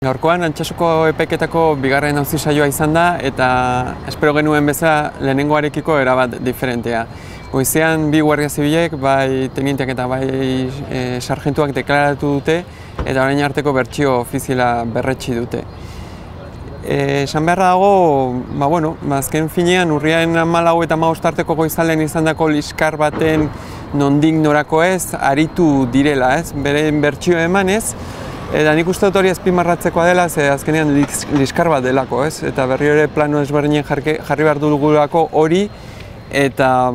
Gaurkoan Altsasuko epaiketako bigarren auzi saioa izan da eta espero genuen bezala lehenengoarekiko erabat diferentea. Goizean bi guardia zibilek, bai tenienteak eta bai sargentuak deklaratu dute eta orain arteko bertsio ofiziala berretsi dute. Esan beharra dago, azken finean urriaren 14 eta 15 arteko goizaldean izandako liskar baten nondik norako ez aritu direla, beren bertsio emanez. Eta nik uste dut hori azpimarratzekoa dela, ze azkenean liskar bat delako, eta berriro ere plano ezberdinen jarri behar dugulako hori, eta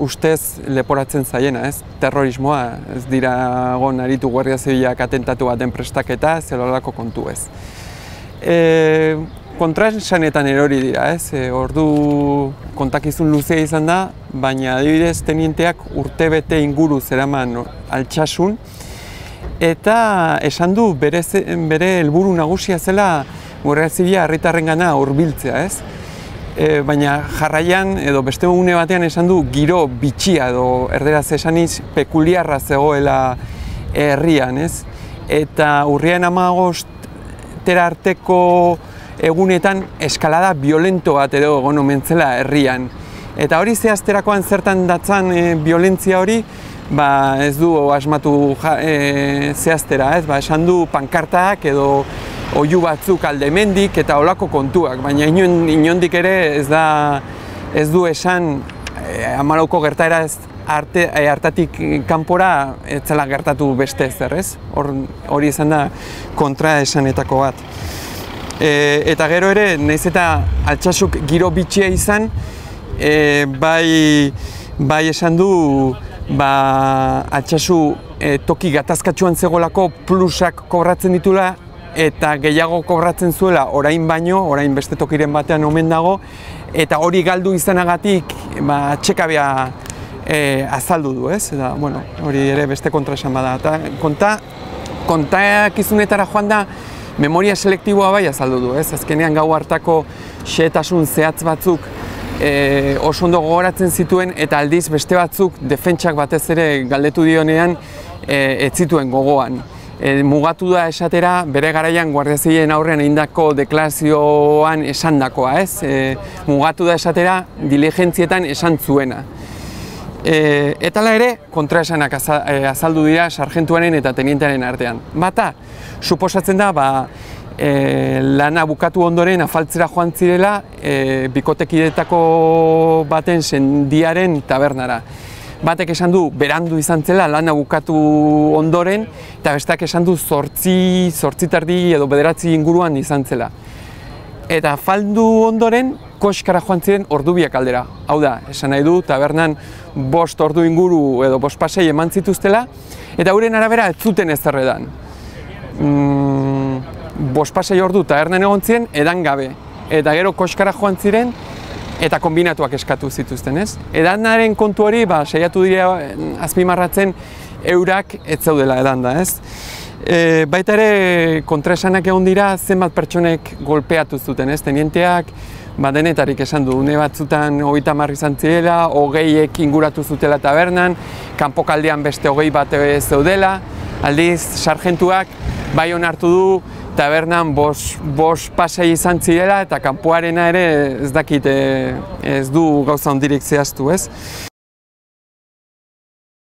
ustez leporatzen zaiena, terrorismoa, ez dira egon aritu guardia zibilak atentatu baten prestaketa, zelolako kontu ez. Kontraesanetan erori dira, ordu kontakizun luzea izan da, baina adibidez tenienteak urtebete inguru zeraman Altsasun, eta esan du bere helburu nagusia zela guardia zibila herritarrengana hurbiltzea, baina jarraian edo beste une batean esan du giro bitxia edo erderaz esaniz pekuliarra zegoela herrian, eta urriaren 15 arteko egunetan eskalada violento bat edo egon omen zela herrian. Eta hori zehazterakoan zertan datzan violentzia hori, ez du asmatu zehaztera, esan du pankartak edo oihu batzuk aldemendik eta olako kontuak, baina inondik ere ez du esan 14ko gertaera hartatik kanpora ez zela gertatu beste ezer, hori izan da kontraesanetako bat. Eta gero ere, nahiz eta Altsasuk giro bitxia izan, bai esan du Altsasu toki gatazkatsuan zegoelako plusak kobratzen ditula eta gehiago kobratzen zuela orain baino, orain beste tokiren batean omen dago, eta hori galdu izanagatik atxekabea azaldu du, eta hori ere beste kontraesan bada. Kontakizunetara joan da memoria selektiboa bai azaldu du, azkenean gau hartako xehetasun zehatz batzuk oso ondo gogoratzen zituen eta aldiz beste batzuk defentsak batez ere galdetu dionean ez zituen gogoan. Mugatu da esatera bere garaian guardia zibilen aurrean egindako deklarazioan esandakoa, mugatu da esatera diligentzietan esan zuena. Eta ere kontraesanak azaldu dira sargentuaren eta tenientearen artean. Bata, suposatzen da lana bukatu ondoren afaltzera joan zirela bikotekidetako baten sendiaren tabernara. Batek esan du berandu izan zela lana bukatu ondoren, eta besteak esan du 8:30 edo 9 inguruan izan zela. Eta afaldu ondoren koskara joan ziren ordubiak aldera. Hau da, esan nahi du tabernan 5 ordu inguru edo 5 pasei eman zituztela, eta euren arabera ez zuten ezer edan. 5 pasei ordu tabernan egon ziren edan gabe, eta gero koskara joan ziren eta kombinatuak eskatu zituzten, Edanaren kontu hori, saiatu dira azpimarratzen eurak ez zaudela edanda, Baita ere kontraesanak egon dira zenbat pertsonek golpeatu zuten, Tenienteak denetarik esan du, une batzutan 30 izan zirela, 20ek inguratu zutela tabernan, kanpokaldean beste 20 bat zeudela, aldiz sargentuak bai onartu du tabernan 5 pasei izan zirela eta kanpoarena ere ez dakit ez du gauza hondirik zehaztu,